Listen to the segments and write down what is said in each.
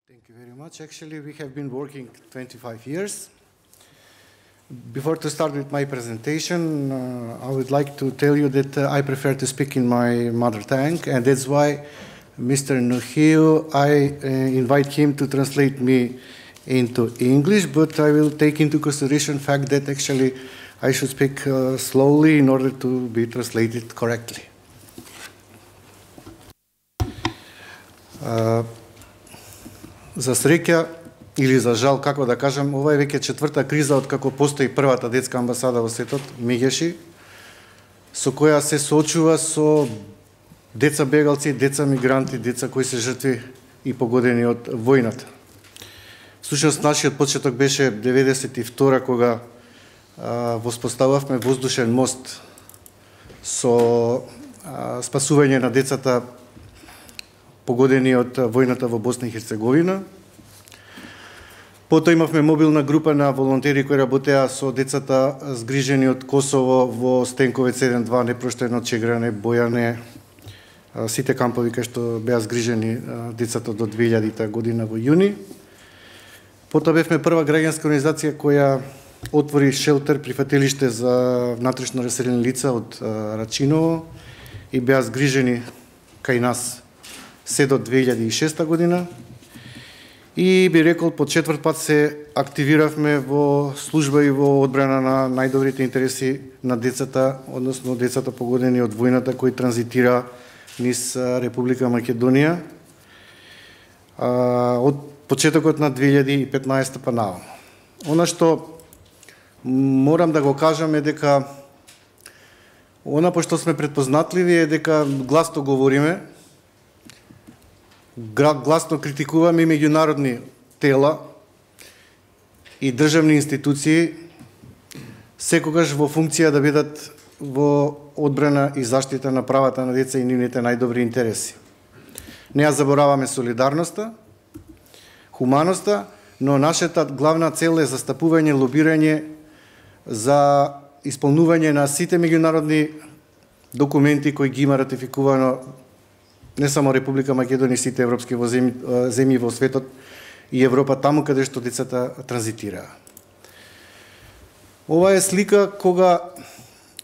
Thank you very much. Actually, we have been working 25 years. Before to start with my presentation, I would like to tell you that I prefer to speak in my mother tongue, and that's why Mr. Nuhiu, I invite him to translate me into English, but I will take into consideration the fact that actually I should speak slowly in order to be translated correctly. За среќа или за жал, како да кажам, ова е веќе четврта криза од како постои првата детска амбасада во светот, Мегеши, со која се соочува со деца бегалци, деца мигранти, деца кои се жртви и погодени од војната. Всушност, нашиот почеток беше 92 кога воспостававме воздушен мост со спасување на децата погодени од војната во Босна и Херцеговина. Потоа имавме мобилна група на волонтери кои работеа со децата згрижени од Косово во Стенковец 1-2, Непроштено, Чегране, Бојане, сите кампови кај што беа згрижени децата до 2000 година во јуни. Потоа бевме прва граѓанска организација која отвори шелтер, прифатилиште за внатрешно раселени лица од Рачиново и беа згрижени кај нас се до 2006 година. И би рекол, по четврт пат се активиравме во служба и во одбрана на најдобрите интереси на децата, односно децата погодени од војната кои транзитира низ Република Македонија од почетокот на 2015 па наваму. Она што морам да го кажам е дека пошто сме предпознатливи е дека гласно говориме, гласно критикуваме и меѓународни тела и државни институции, секогаш во функција да бидат во одбрана и заштита на правата на деца и нивните најдобри интереси. Не ја забораваме солидарноста, хуманоста, но нашата главна цел е застапување, лобирање за исполнување на сите меѓународни документи кои ги има ратификувано не само Република Македонија, сите европски земји во светот и Европа, таму каде што децата транзитираа. Ова е слика кога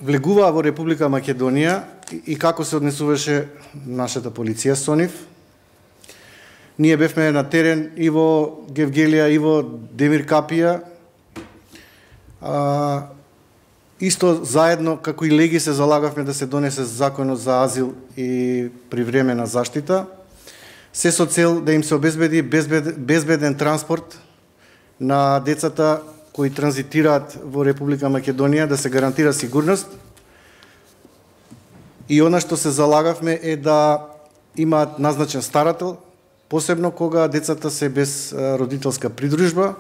влегуваа во Република Македонија и како се однесуваше нашата полиција со нив. Ние бевме на терен и во Гевгелија, и во Демир Капија. Исто заедно, како и леги, се залагавме да се донесе законот за азил и привремена заштита, се со цел да им се обезбеди безбеден транспорт на децата кои транзитираат во Република Македонија, да се гарантира сигурност. И она што се залагавме е да имаат назначен старател, посебно кога децата се без родителска придружба,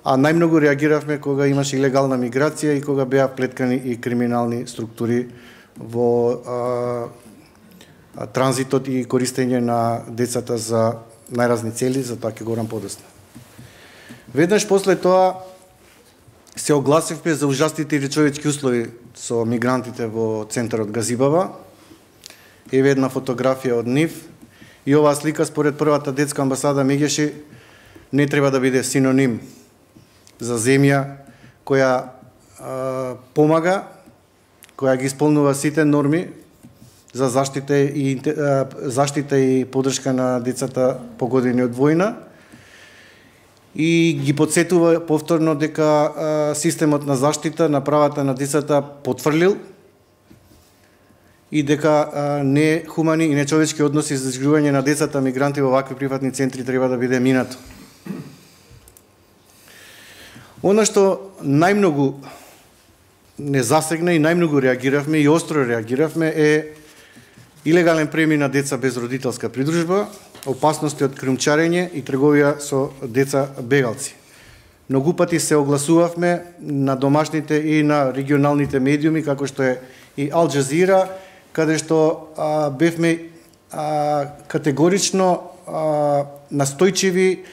а најмногу реагиравме кога имаше илегална миграција и кога беа вплеткани и криминални структури во транзитот и користење на децата за најразни цели, за тоа ќе говорам подоцна. Веднаш после тоа се огласивме за ужасните нечовечки услови со мигрантите во центарот Газибава. Еве една фотографија од нив. И оваа слика според првата детска амбасада Мегеши не треба да биде синоним за земја која помага, која ги исполнува сите норми за заштита и поддршка на децата погодени од војна и ги потсетува повторно дека системот на заштита на правата на децата потврлил и дека нехумани и нечовечки односи за згрижување на децата мигранти во вакви приватни центри треба да биде минато. Она што најмногу не засегна и најмногу реагиравме и остро реагиравме е илегален премин на деца без родителска придружба, опасности од кримчарење и трговија со деца бегалци. Многу пати се огласувавме на домашните и на регионалните медиуми, како што е и Ал Джазира, каде што бевме категорично настојчиви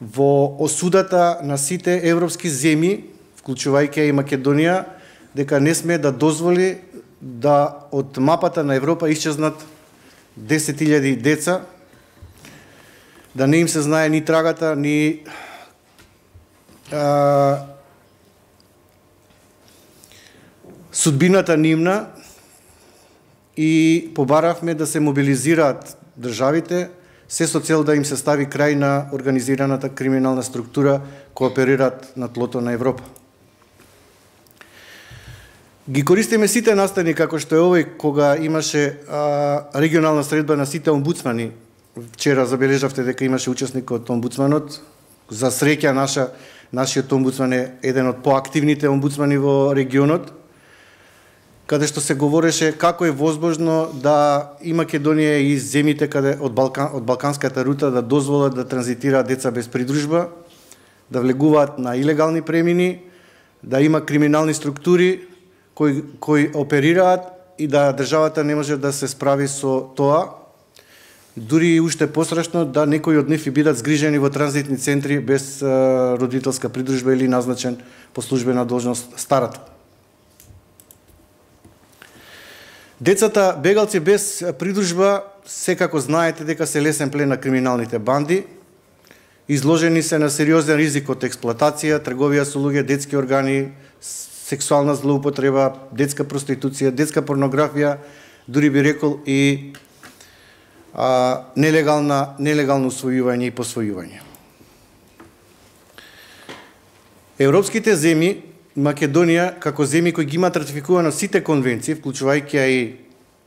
во осудата на сите европски земји, вклучувајќи и Македонија, дека не сме да дозволи да од мапата на Европа исчезнат 10.000 деца да не им се знае ни трагата, ни судбината нивна, и побаравме да се мобилизираат државите, се со цел да им се стави крај на организираната криминална структура која оперираат на тлото на Европа. Ги користиме сите настани, како што е овој, кога имаше регионална средба на сите омбудсмани. Вчера забележавте дека имаше учесник од омбудсманот. За среќа нашиот омбудсман е еден од поактивните омбудсмани во регионот, каде што се говореше како е возможно да и Македонија и земите каде од балканската рута да дозволат да транзитираат деца без придружба, да влегуваат на илегални премини, да има криминални структури кои оперираат и да државата не може да се справи со тоа. Дури и уште пострашно да некои од нив бидат згрижени во транзитни центри без родителска придружба или назначен по службена должност старател. Децата бегалци без придружба секако знаете дека се лесен плен на криминалните банди. Изложени се на сериозен ризик од експлоатација, трговија со луѓе, детски органи, сексуална злоупотреба, детска проституција, детска порнографија, дури би рекол и нелегално усвојување и посвојување. Европските земји, Македонија, како земји кои ги имаат ратификувано сите конвенции, вклучувајќи и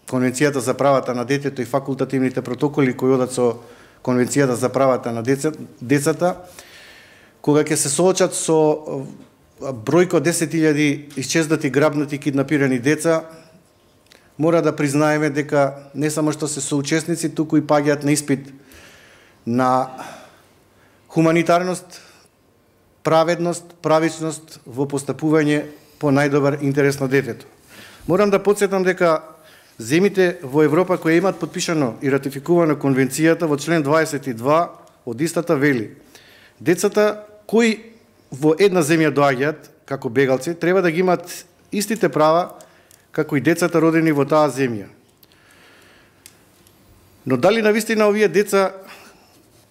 Конвенцијата за правата на детето и факултативните протоколи кои одат со Конвенцијата за правата на децата, кога ќе се соочат со бројка 10.000 исчезнати, грабнати, киднапирани деца, мора да признаеме дека не само што се соучесници, туку и паѓаат на испит на хуманитарност, праведност, правичност во постапување по најдобар интерес на детето. Морам да подсетам дека земите во Европа кои имаат подпишано и ратификувано конвенцијата во член 22 од истата вели: децата кои во една земја доаѓаат како бегалци треба да ги имаат истите права како и децата родени во таа земја. Но дали навистина овие деца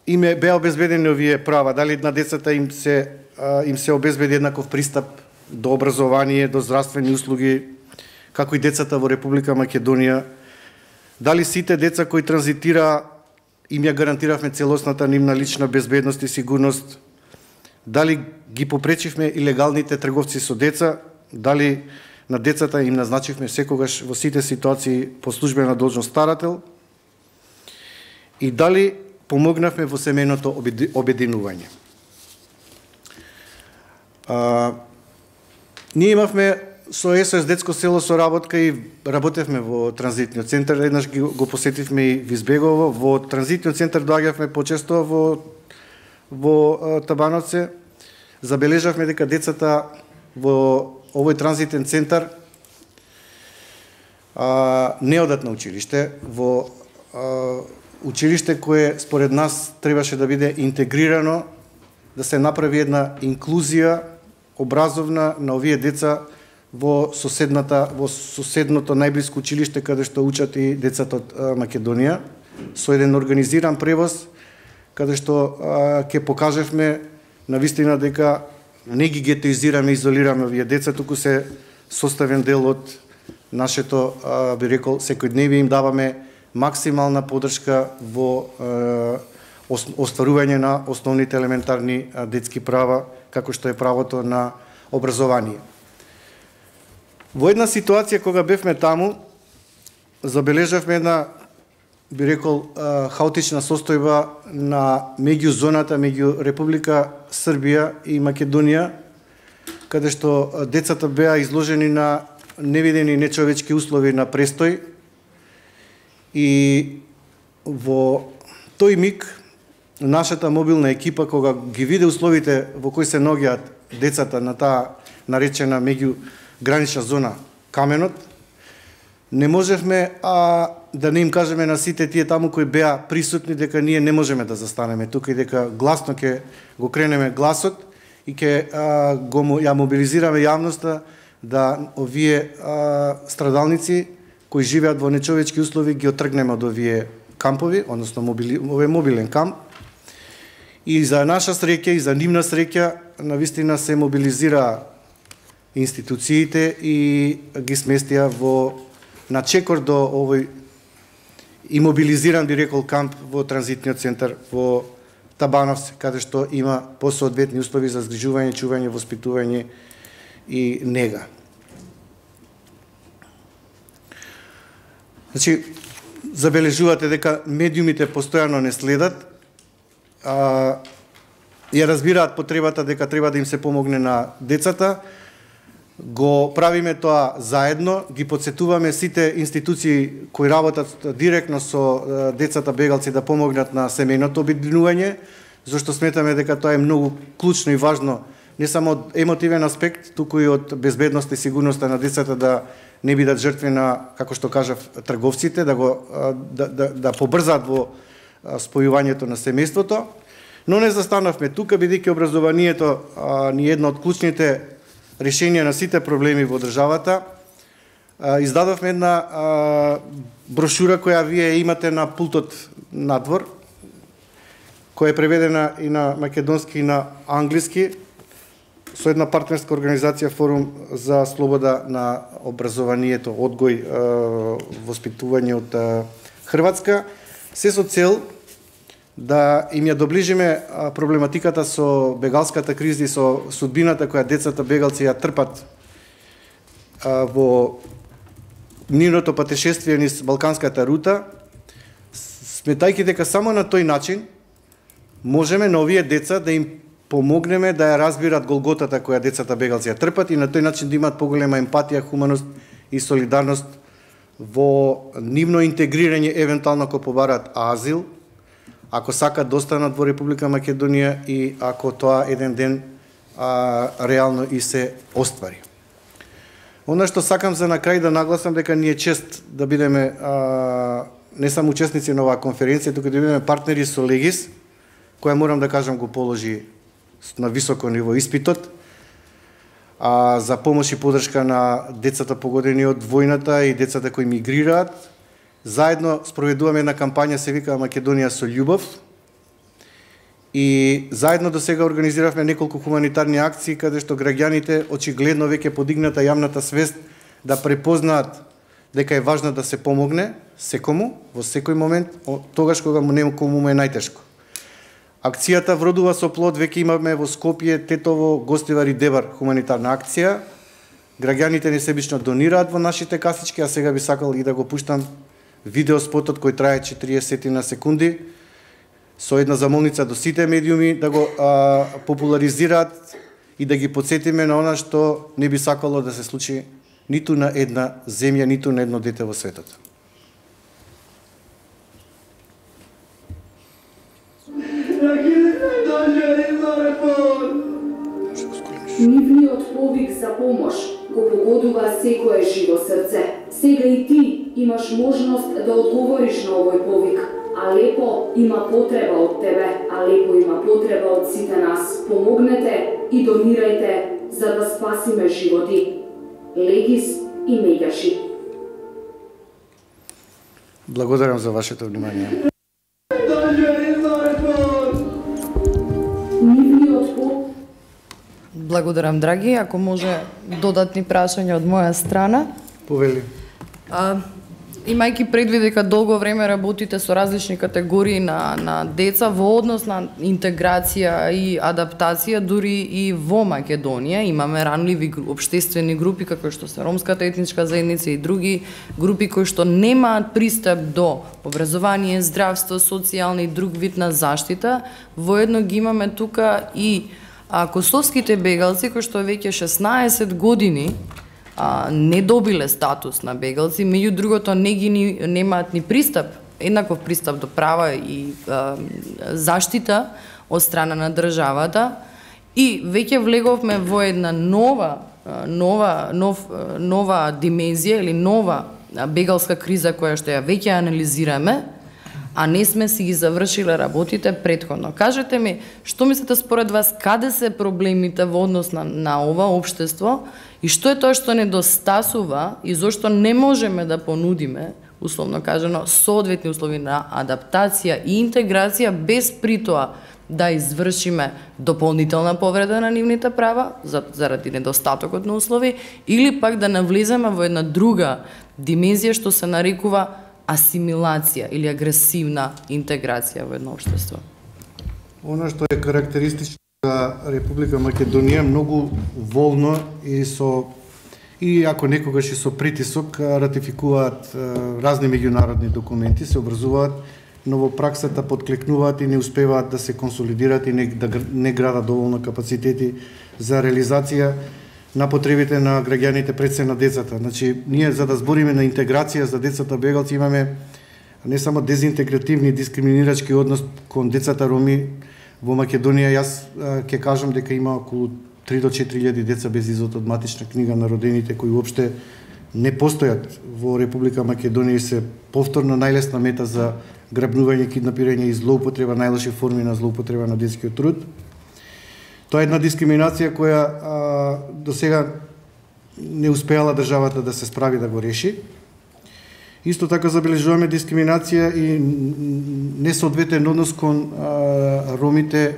им беа обезбедени овие права, дали на децата им се обезбеди еднаков пристап до образование, до здравствени услуги, како и децата во Република Македонија, дали сите деца кои транзитира им ја гарантиравме целосната нивна лична безбедност и сигурност, дали ги попречивме илегалните трговци со деца, дали на децата им назначивме секогаш во сите ситуации по службена должност старател, и дали помогнавме во семејното обединување. Ние имавме со СОС детско село соработка и работевме во транзитниот центар, еднаш го посетивме и Визбегово. Во транзитниот центар доаѓавме почесто во Табановце. Забележавме дека децата во овој транзитен центар не одат на училиште, во училиште кое според нас требаше да биде интегрирано, да се направи една инклузија образовна на овие деца во соседното најблиско училиште каде што учат и децата од Македонија, со еден организиран превоз, каде што ќе покажевме навистина дека не ги гетоизираме, изолираме овие деца, туку се составен дел од нашето, би рекол, секојдневие, им даваме максимална поддршка во остварување на основните елементарни детски права, како што е правото на образование. Во една ситуација кога бевме таму, забележавме една, би рекол, хаотична состојба на меѓузоната меѓу Република Србија и Македонија, каде што децата беа изложени на невидени нечовечки услови на престој, и во тој миг нашата мобилна екипа, кога ги виде условите во кои се наоѓаат децата на таа наречена меѓугранична зона Каменот, не можевме да не им кажеме на сите тие таму кои беа присутни дека ние не можеме да застанеме тука и дека гласно ќе го кренеме гласот и ќе ја мобилизираме јавноста да овие страдалници кои живеат во нечовечки услови ги отргнеме од овие кампови, односно овој мобилен камп, И за наша среќа и за нивна среќа навистина се мобилизира институциите и ги сместија на чекор до овој имобилизиран, би рекол, камп во транзитниот центар во Табановци, каде што има посоодветни услови за згрижување, чување, воспитување и нега. Значи, забележувате дека медиумите постојано не следат, ја разбираат потребата дека треба да им се помогне на децата, го правиме тоа заедно, ги подсетуваме сите институции кои работат директно со децата бегалци да помогнат на семејното обединување, зашто сметаме дека тоа е многу клучно и важно, не само од емотивен аспект, туку и од безбедност и сигурноста на децата да не бидат жртви на, како што кажав, трговците, да побрзаат во спојувањето на семејството. Но не застанавме тука, бидејќи образованието ни е едно од клучните решенија на сите проблеми во државата. Издадовме една брошура која вие имате на пултот надвор, која е преведена и на македонски и на англиски, со една партнерска организација Форум за слобода на образованието, одгој, воспитување од Хрватска, се со цел да им ја доближиме проблематиката со бегалската криза и со судбината која децата бегалци ја трпат во нивното патешествие низ Балканската рута, сметајќи дека само на тој начин можеме на овие деца да им помогнеме да ја разбират голготата која децата бегалци ја трпат и на тој начин да имаат поголема емпатија, хуманост и солидарност во нивно интегрирање, евентуално ако побараат азил, ако сакат да останат во Република Македонија и ако тоа еден ден реално и се оствари. Она што сакам за на крај да нагласам дека ни е чест да бидеме не само учесници на оваа конференција, туку да бидеме партнери со Легис, која морам да кажам го положи на високо ниво испитот за помош и поддршка на децата погодени од војната и децата кои мигрираат. Заедно спроведуваме една кампања, се вика Македонија со љубов. И заедно до сега организиравме неколку хуманитарни акции, каде што граѓаните очигледно веќе подигната јавната свест да препознаат дека е важно да се помогне секому, во секој момент, тогаш кога некому му е најтешко. Акцијата вродува со плод, веќе имаме во Скопје, Тетово, Гостивар и Дебар хуманитарна акција. Граѓаните несебично донираат во нашите касички, а сега би сакал и да го пуштам видеоспотот кој трае 40 на секунди, со една замолница до сите медиуми да го популаризираат и да ги подсетиме на она што не би сакало да се случи ниту на една земја, ниту на едно дете во светот. Нивниот повик за помош го погодува секое живо срце. Сега и ти имаш можност да одговориш на овој повик. Алепо има потреба од тебе, Алепо има потреба од сите нас. Помогнете и донирајте за да спасиме животи. Легис и Меѓаши. Благодарам за вашето внимание. Благодарам, драги. Ако може додатни прашања од моја страна. Повели. Имајќи предвид дека долго време работите со различни категории на деца во однос на интеграција и адаптација, дури и во Македонија имаме ранливи општествени групи како што се ромската етничка заедница и други групи кои што немаат пристап до образование, здравство, социјална и друг вид на заштита. Воедно ги имаме тука и косовските бегалци кои што веќе 16 години не добиле статус на бегалци, меѓу другото немаат ни пристап, еднаков пристап до права и заштита од страна на државата и веќе влеговме во една нова димензија или нова бегалска криза која што ја веќе анализираме, а не сме си ги завршиле работите претходно. Кажете ми, што мислите според вас, каде се проблемите во однос на ова општество и што е тоа што недостасува и зошто не можеме да понудиме, условно кажано, соодветни услови на адаптација и интеграција без при тоа да извршиме дополнителна повреда на нивните права заради недостатокот на услови, или пак да навлеземе во една друга димензија што се нарекува асимилација или агресивна интеграција во едно општество. Она што е карактеристично за Република Македонија, многу волно и ако некогаш и со притисок ратификуваат разни меѓународни документи, се образуваат, но во праксата подклекнуваат и не успеваат да се консолидираат и не градат доволно капацитети за реализација на потребите на граѓаните, пред се на децата. Значи, ние за да збориме на интеграција за децата бегалци имаме не само дезинтегративни и дискриминирачки однос кон децата роми во Македонија. Јас ќе кажам дека има околу 3 до 4.000 деца без извод од матична книга на родените кои уопште не постојат во Република Македонија и се повторно најлесна мета за грабнување, киднапирање и злоупотреба, најлоши форми на злоупотреба на детскиот труд. Тоа е една дискриминација која до сега не успеала државата да се справи да го реши. Исто така забележуваме дискриминација и несоодветен однос кон ромите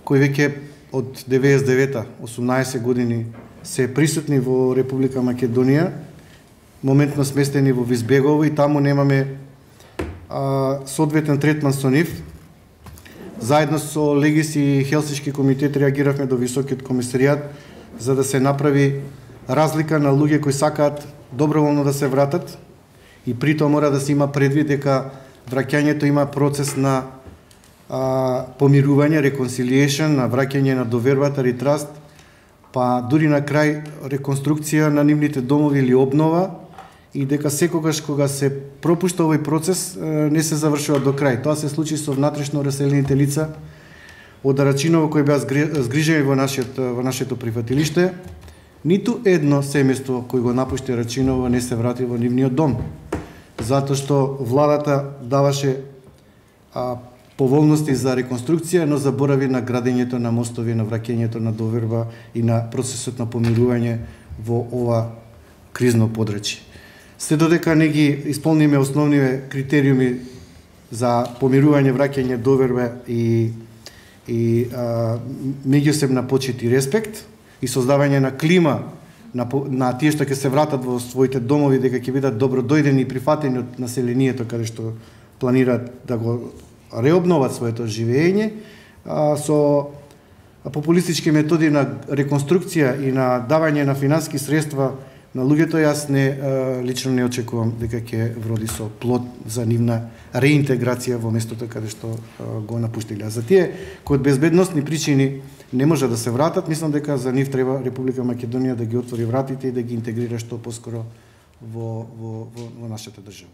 кои веќе од 99-та, 18 години се присутни во Република Македонија, моментно сместени во Визбегово и таму немаме соодветен третман со нив. Заедно со Легис и Хелсиншки комитет реагиравме до Високиот комисаријат за да се направи разлика на луѓе кои сакаат доброволно да се вратат и при тоа мора да се има предвид дека враќањето има процес на помирување, reconciliation, на враќање на довербата, ретраст, па дури на крај реконструкција на нивните домови или обнова, и дека секогаш кога се пропушта овој процес не се завршува до крај. Тоа се случи со внатрешно раселените лица од Рачиново кои беа згрижени во нашето прифатилиште. Ниту едно семејство кој го напушти Рачиново не се врати во нивниот дом, затоа што владата даваше поволности за реконструкција, но заборави на градењето на мостови, на враќањето на доверба и на процесот на помирување во ова кризно подрачје. Се додека не ги исполниме основниве критериуми за помирување, враќање, доверба и меѓусебна почит и респект и создавање на клима на тие што ќе се вратат во своите домови, дека ќе бидат добродојдени и прифатени од населението каде што планираат да го реобноват своето живење, со популистички методи на реконструкција и на давање на финански средства на луѓето, јас лично не очекувам дека ќе вроди со плод за нивна реинтеграција во местото каде што го напуштиле. За тие кои од безбедносни причини не може да се вратат, мислам дека за нив треба Република Македонија да ги отвори вратите и да ги интегрира што поскоро во нашата држава.